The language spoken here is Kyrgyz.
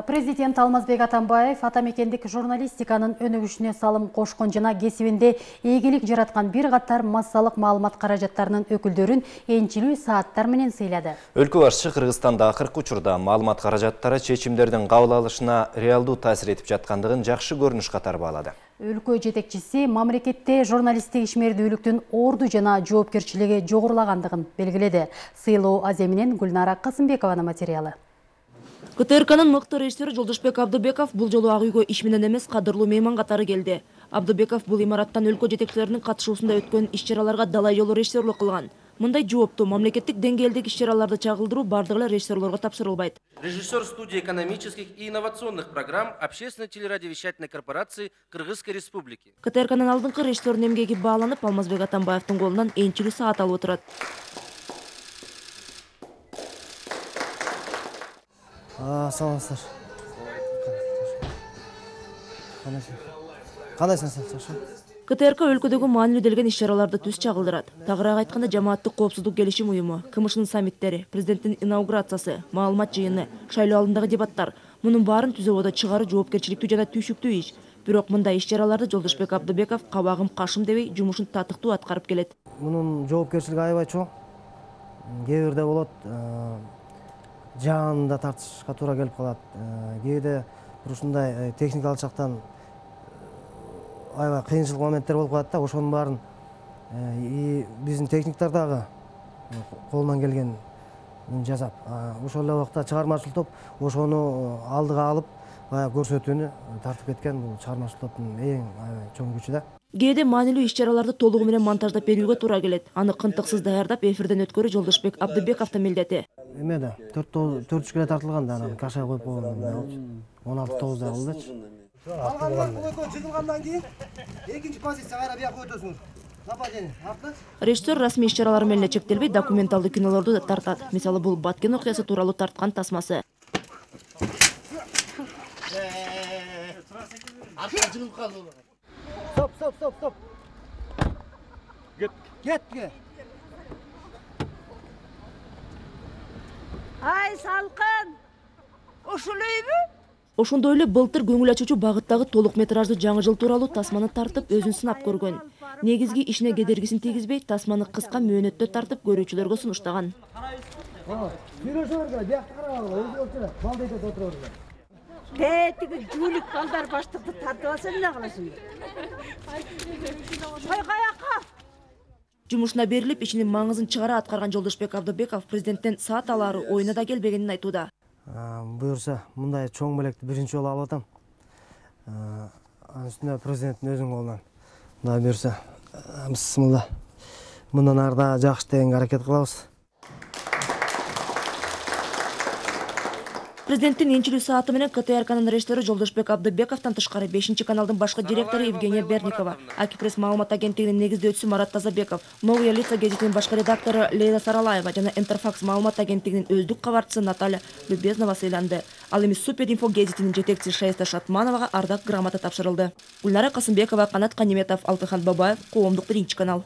Президент Алмазбек Атамбаев атамекендик журналистиканын өнүгүшүнө салым кошкон жана кесибинде ийгилик жараткан бир катар массалык маалымат каражаттарынын өкүлдөрүн энчилүү сааттар менен сыйлады. Өлкө башчысы Кыргызстанда акыркы учурда маалымат каражаттары чечимдердин кабыл алышына реалдуу таасир этип жаткандыгын жакшы көрүнүш катары баалады. Өлкө жетекчиси мамлекетте журналисттик ишмердүүлүктүн орду жана жоопкерчилиги жогорулагандыгын белгиледи. Сыйлоо аземинен Гүлнара Касымбекованын материалы. КТРКнын мыкты режиссеру Жолдошбек Абдыбеков бул жолу ак үйгө иш менен эмес, кадырлуу мейман катары келди. Абдыбеков бул имараттан өлкө жетекчилеринин катышуусунда өткөн иш-чараларга далай жолу режиссерлук кылган. Мындай жооптуу мамлекеттик деңгээлдеги иш-чараларды чагылдыруу бардык эле режиссерлорго тапшырылбайт. Режиссер студии экономических и инновационных программ Общественной телерадиовещательной корпорации Кыргызской Республики. КТРКнын алдыңкы режиссердин эмгеги бааланып, Алмазбек Атамбаевдин колунан энчилүү саат алып отурат. Саламатсыздар. Кандайсыңыз? КТРК өлкөдөгү маанилүү делген иш-чараларды түз чагылдырат. Тагыраак айтканда, жамааттык коопсуздук келишим уюму, КМШнын саммиттери, президенттин инаугурациясы, маалымат жыйыны, шайлоо алдындагы дебаттар — мунун баарын түзөбөдө чыгаруу жоопкерчиликтүү жана түйшүктүү иш. Бирок мындай иш-чараларды Жолдошбек Абдыбеков кабагым кашым дебей жумушун татыктуу аткарып келет. Мунун жоопкерчилиги аябай чоң. Кээ бирде болот жанында тартышка туура келип калат. Кээде ушундай техникалык жактан аябай кыйынчылык моменттер болуп калат да, ошонун баарын биздин техниктер дагы колунан келген жасап, ошол эле убакта чыгармачыл топ ошону алдыга алып, көрсөтүүнү тартып кеткен бул чыгармачыл топтун эң чоң күчү да. Кээде маанилүү иш-чараларды толугу менен монтаждап берүүгө туура келет. Аны кынтыксыз даярдап эфирден өткөрүү Жолдошбек Абдыбековдун милдети. Эмеде 4 келе тартылган да, анан кашай коюп койгон 16-9 болдучу. Алгандан чыгылгандан кийин экинчи позиция кайра бияка өтөсүңүз. Нападение. Режиссер расмий иш-чаралар менен эле чектелбей, документалдуу кинолорду да тартат. Мисалы, бул Баткен окуясы тууралуу тарткан тасмасы. Стоп. Кетке. Ай, салкын. Ошолойбу? Ошондой эле былтыр көңүл ачуучу багыттагы толук метраждуу жаңы жыл тууралуу тасманы тартып, өзүн сынап көргөн. Негизги ишине кедергисин тийгизбей, тасманы кыска мөөнөттө тартып көрүүчүлөргө сунуштаган. Тетиги жүүлүк балдар баштыкты тартып алса эмне кыласың? Ой, каяка? Жумушуна берилип, ишинин маңызын чыгара аткарган Жолдошбек Абдыбеков президенттен саат алаары оюна да келбегенин айтууда. Буюрса, мындай чоң белекти биринчи жолу алып атам. Анын үстүнө президенттин өзүнүн колунан. Мына буюрса, бисмилла. Мындан ары да жакшы дегенге аракет кылабыз. Президенттин энчилүү сааты менен КТРКнын режиссеру Жолдошбек Абдыбековдон тышкары 5-каналдын башкы директору Евгения Берникова, Акипресс маалымат агенттигинин негиздөөчүсү Марат Тазабеков, Новые лица гезитинин башкы редактору Лейла Саралаева жана Интерфакс маалымат агенттигинин өздүк кабарчысы Наталья Любезнова сыйланды. Ал эми Суперинфо гезитинин жетекчиси Шаиста Шатмановага ардак грамота тапшырылды. Гүлнара Касымбекова, Канат Каниметов, Алтыхан Бабаев, Коомдук 1-канал.